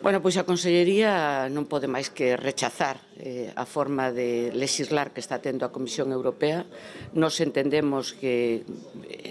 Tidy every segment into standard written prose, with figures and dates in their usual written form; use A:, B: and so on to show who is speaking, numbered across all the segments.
A: Bueno, pois a Consellería non pode máis que rechazar a forma de lexislar que está tendo a Comisión Europea. Nos entendemos que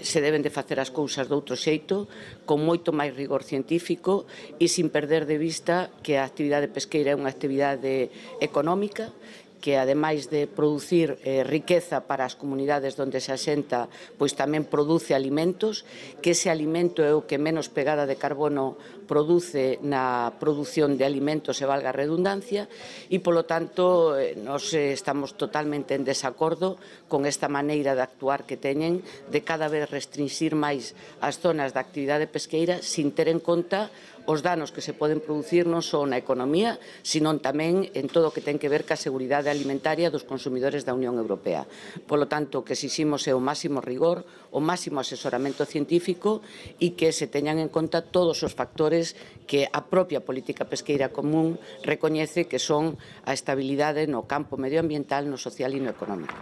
A: se deben de facer as cousas de outro xeito, con moito máis rigor científico e sin perder de vista que a actividade pesqueira é unha actividade económica, que ademais de producir riqueza para as comunidades onde se asenta, pois tamén produce alimentos, que ese alimento é o que menos pegada de carbono produce na produción de alimentos, e valga a redundancia, e polo tanto nós estamos totalmente en desacordo con esta maneira de actuar que teñen de cada vez restringir máis as zonas de actividade pesqueira sin ter en conta os danos que se poden producir non só na economía, senón tamén en todo o que ten que ver ca seguridade alimentaria dos consumidores da Unión Europea. Polo tanto, o que exiximos é o máximo rigor, o máximo asesoramento científico e que se teñan en conta todos os factores que a propia política pesqueira común recoñece que son a estabilidade no campo medioambiental, no social e no económico.